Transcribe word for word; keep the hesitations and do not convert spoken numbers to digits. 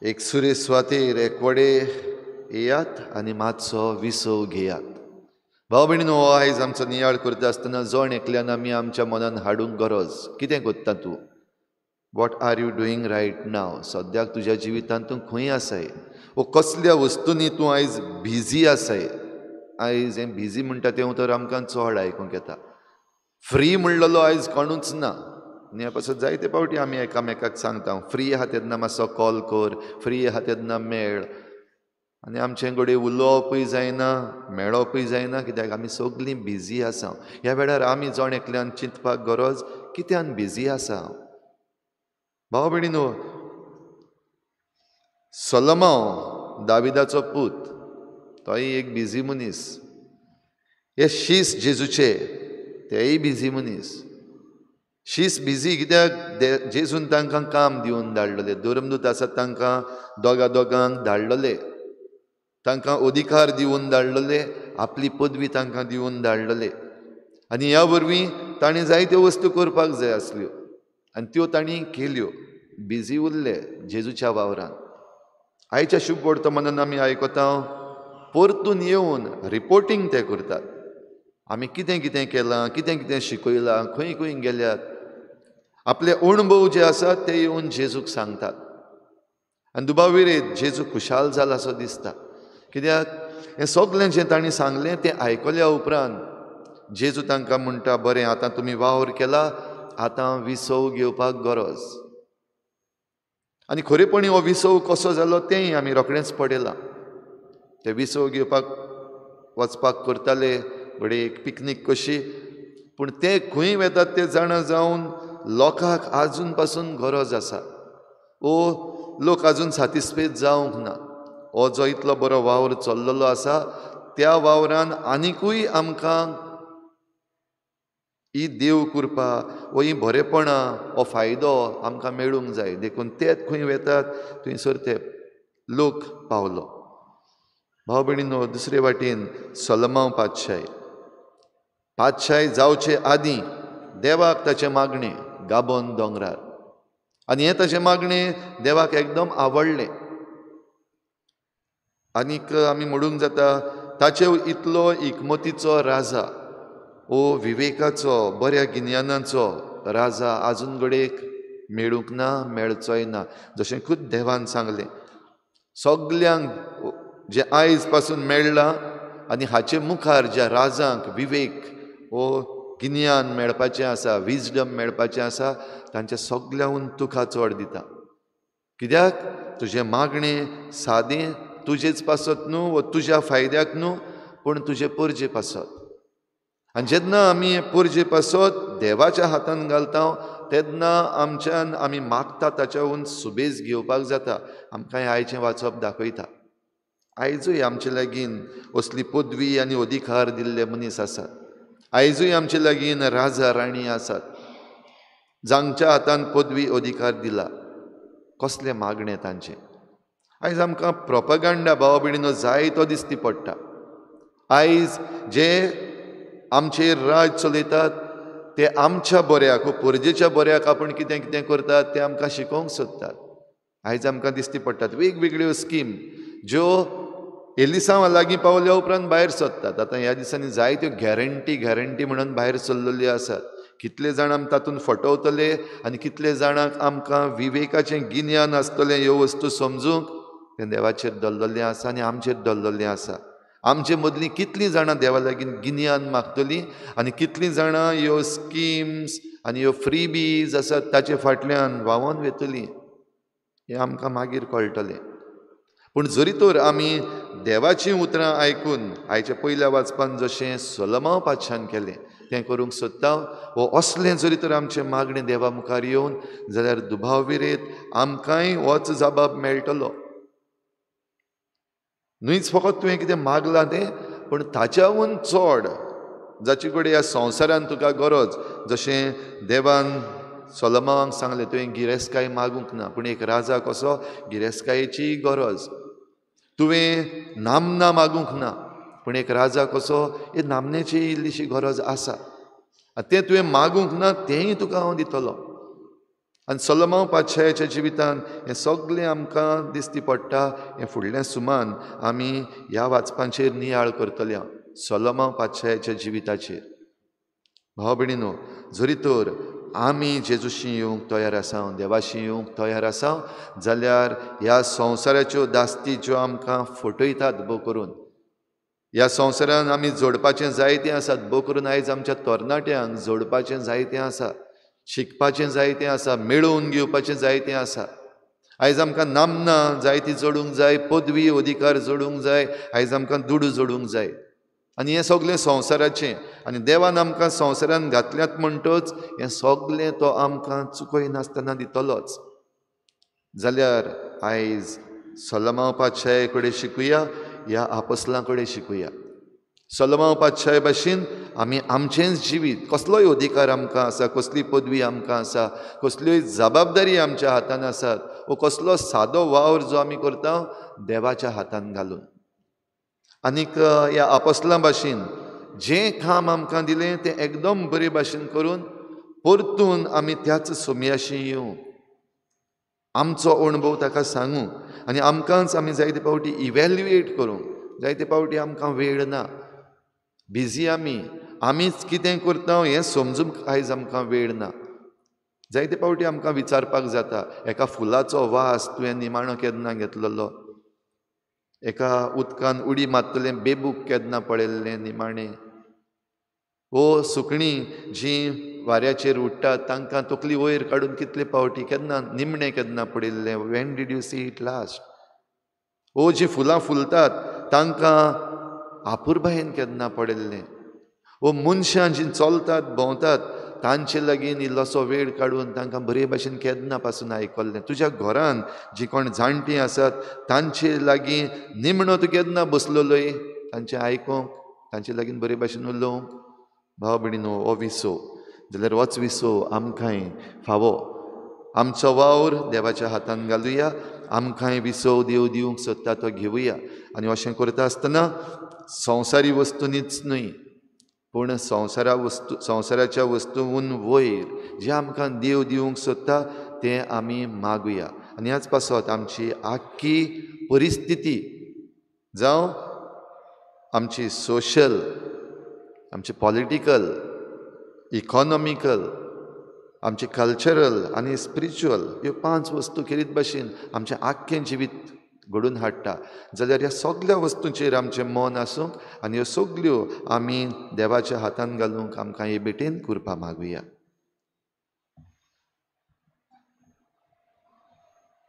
एक सुरे सुवातेर एकवडे येयात आनी मातसो विसव घेयात. भाव भयणीनो, हो आयज आमचो नियाळ करता आसतना जण एकल्यान आमी आमच्या मनान हाडूंक गरज, कितें करता तूं? What are you doing right now? सद्याक तुज्या जिवितांत तूं खंय आसाय वो कसल्या वस्तूंनी तूं आयज बिजी आसाय? आयज हें बिजी म्हणटा तें उतर आमकां चड आयकूंक येता. फ्री म्हणलेलो आयज कोणूच ना. आनी ह्या पासत जायते फावटी आमी एकामेकाक सांगता, फ्री आहा तेन्ना मातसो कॉल कर, फ्री आहा तेन्ना मेळ. आनी आमचें घडये उलोवपूय जायना, मेळपूय जायना, कित्याक आमी सगळीं बिजी आसा. ह्या वेळार आमी जण एकल्यान चिंतपाक गरज, कित्यान बिजी आसा? भाव भयणीनो, सोलोमांव दाविदाचो पूत, तोय एक बिजी मनीस. हे शीस जेजूचे, तेय बिजी मनीस. शीस बिजी कित्याक जेजून तांकां काम दिवन धाडलेले, धर्मदूत आसात तांकां दोगा दोगांक धाडलेले, तांकां अधिकार दिवन धाडलेले, आपली पदवी तांकां दिवन धाडलेले. आनी ह्या वरवीं ताणें जायत्यो वस्तू करपाक जाय आसल्यो आनी त्यो तांणी केल्यो. बिजी उरले जेजूच्या वावरान. आयच्या शुभ वर्तमानान आमी आयकता, परतून येवन रिपोर्टींग ते करतात. आमी कितें कितें केलां, कितें कितें शिकयलां, खंय खंय गेल्यात, आपले अणभव जे आसात ते येवन जेजूक सांगतात. आनी दुबाविरेत जेजू खुशाल जाला असो दिसता, कित्याक हें सगळें जें तांणी सांगलें तें आयकल्या उपरांत जेजू तांकां म्हणटा, बरें, आतां तुमी वावर केला, आतां विसव घेवपाक गरज. आनी खरेपणी हो विसव कसो जालो तेंय आमी रोखडेंच पळयलां. ते विसव घेवपाक वचपाक करताले घडये एक पिकनीक कशी, पूण ते खंय वेतात ते जाणा जावन लोकांक आजून पासून गरज आसा. ओ लोक आजून सातिस्फेद जावंक ना. हो जो इतलो बरो वावर चल्लेलो आसा त्या वावरान आनिकूय आमकां ही देव कृपा वो ही बरेपणां, हो फायदो आमकां मेळूंक जाय. देखून तेच खंय वेतात थंयसर ते लोक पावलो. भाव भयणीनो, दुसरे वाटेन सोलोमांव पातशाय, पातशाय जावचे आदीं देवाक ताचें मागणें गाबोन दोंगरार, आनी हें ताचें मागणें देवाक एकदम आवडलें. आनीक आमी म्हणूंक जाता ताचे इतलो इकमतीचो राजा, ओ विवेकाचो, बऱ्या गिन्यानाचो राजा आजून घडयेक मेळूंक ना, मेळचोय ना. जशें खूद देवान सांगलें, सगल्यांक जें आयज पासून मेळ्ळां आनी हाचे मुखार ज्या राजांक विवेक वो गिन्यान मेळपाचें आसा, विजडम मेळपाचें आसा, तांच्या सगल्यांहून तुका चड दिता. कित्याक तुजें मागणें सादें तुजेच पासत न्हू वो तुज्या फायद्याक न्हू, पूण तुजे परजे पासत. आनी जेन्ना आमी परजे पासत देवाच्या हातान घालता तेन्ना आमच्यान आमी मागता ताच्याहून सुबेज घेवपाक जाता. आमकां हें आयचें वाचप दाखयता. आयजूय आमचे लागीं असली पदवी आनी अधिकार दिल्ले मनीस आसात. आयजूय आमचे लागीं राजा राणी आसात जांच्या हातान पदवी अधिकार दिला. कसलें मागणें तांचें! आयज आमकां प्रोपगांडा भाव भयणीनो जायतो दिसती पडटा. आयज जे आमचेर राज चलयतात ते आमच्या बऱ्याक, परजेच्या बऱ्याक आपूण कितें कितें करतात तें आमकां शिकोवंक सोदतात. आयज आमकां दिसती पडटात वेगवेगळ्यो स्कीम ज्यो एलिसांव लागीं पावल्या उपरांत भायर सरतात. आतां ह्या दिसांनी जायत्यो गॅरंटी गॅरंटी म्हणून भायर सरलेल्यो आसात. कितले जाण आम तातूंत फटवतले आनी कितले जाणांक आमकां विवेकाचें गिन्यान आसतलें ह्यो वस्तू समजूंक, तें देवाचेर दवरलेलें आसा आनी आमचेर दवरलेलें आसा. आमचे मदलीं कितलीं जाणां देवा लागीं गिन्यान मागतलीं आनी कितलीं जाणां ह्यो स्किम्स आनी ह्यो फ्रीबीज आसात ताचे फाटल्यान व्हांवोन वेतलीं हें आमकां मागीर कळटलें. पूण जरी तर आमी देवाचीं उतरां आयकून आयच्या पयल्या वाचपान जशें सोलोमांव पातशान केलें तें करूंक सोदता, वो असलें जरी तर आमचें मागणें देवा मुखार येवन जाल्यार दुबाव विरेत आमकांय होच जबाब मेळटलो. न्हूच फकत तुवें कितें मागलां तें, पूण ताच्याहून चड जाचे कडेन ह्या संवसारान तुका गरज. जशें देवान सोलोमावाक सांगलें, तुवें गिरेस्तकाय मागूंक ना, पूण एक राजा कसो गिरेस्तकायेची गरज. तुवें नामना मागूंक ना, पूण एक राजा कसो हे नामनेची इल्लीशी गरज आसा. तें तुवें मागूंक ना तेंय तुका हांव दितलो. आनी सोलोमांव पातशायाच्या जिवितान हें सगळें आमकां दिसती पडटा. हें फुडलें सुमान आमी ह्या वाचपांचेर नियाळ करतले, सोलोमांव पातशायाच्या जिविताचेर. भाव भयणीनो, जरी तर आमी जेजूशी येवंक तयार आसा, देवाशी येवंक तयार आसा जाल्यार ह्या संवसाराच्यो दास्ती ज्यो आमकां फटयतात भोव करून, ह्या संवसारान आमी जोडपाचें जायतें आसात, भोव करून आयज आमच्या तरणाट्यांक जोडपाचें जायतें आसा, शिकपाचें जायतें आसा, मेळोवन घेवपाचें जायतें आसा. आयज आमकां नामना जायती जोडूंक जाय, पदवी अधिकार जोडूंक जाय, आयज आमकां दुडू जोडूंक जाय. आनी हें सगळें संवसाराचें, आनी देवान आमकां संवसारान घातल्यात म्हणटच हें सगळें तो आमकां चुकयनासतना दितलोच. जाल्यार आयज सोलोमांव पातशाये कडेन शिकुया, ह्या आपोस्लां कडेन शिकुया. सोलोमांव पातशाये भाशेन आमी आमचेंच जिवीत, कसलोय अधिकार आमकां आसा, कसली पदवी आमकां आसा, कसल्योय जबाबदारी आमच्या हातान आसात, वो कसलो सादो वावर जो आमी करता देवाच्या हातान घालून, आनीक ह्या आपोस्लां भाशेन जें काम आमकां दिलें तें एकदम बरे भाशेन करून परतून आमी त्याच सोम्याशी येवं, आमचो अणभव ताका सांगू आनी आमकांच आमी जायते फावटी इव्हॅल्युएट करूंक. जायते फावटी आमकां वेळ ना, बिजी आमी, आमीच कितें करता हें समजूंक आयज आमकां वेळ ना. जायते फावटी आमकां विचारपाक जाता, एका फुलाचो वास तुवें निमाणो केन्ना घेतलेलो, एका उदकान उडी मारतलें बेबूक केन्ना पळयल्लें निमाणें, ओ सुकणीं जीं वाऱ्याचेर उडटात तांकां तकली वयर काडून कितले फावटी केन्ना निमणें केन्ना पडिल्लें, when did you see it last, ओ जीं फुलां फुलतात तांकां आपुरबायेन केन्ना पडिल्लें, ओ मनशां जीं चलतात भोंवतात तांचे लागीं इल्लोसो वेळ काडून तांकां बरे भाशेन केन्ना पासून आयकल्लें, तुज्या घरान जीं कोण जाणटीं आसात तांचे लागीं निमणो तूं केन्ना बसलेलोय तांचें आयकूंक, तांचे लागीं बरे भाशेन उलोवंक. भाव भयणीनो, हो विसो जाल्यार होच विसो आमकांय फावो. आमचो वावर देवाच्या हातान घालुया, आमकांय विसव देव दिवंक सोदता तो घेवया. आनी अशें करता आसतना संवसारी वस्तुंनीच न्हय, पूण संवसारा वस्तू संवसाराच्या वस्तून वयर जें आमकां देव दिवंक सोदता तें आमी मागुया. आनी ह्याच पासत आमची आख्खी परिस्थिती जावं आमची सोशल, आमची पॉलिटिकल, इकॉनॉमिकल, आमचे कल्चरल आनी स्पिरिच्युअल ह्यो पांच वस्तू खेरीत भाशेन आमचें आख्खें जिवीत घडून हाडटा. जाल्यार ह्या सगळ्या वस्तूंचेर आमचें मन आसूंक आनी ह्यो सगल्यो आमी देवाच्या हातान घालूंक आमकां हे भेटेन कृपा मागुया.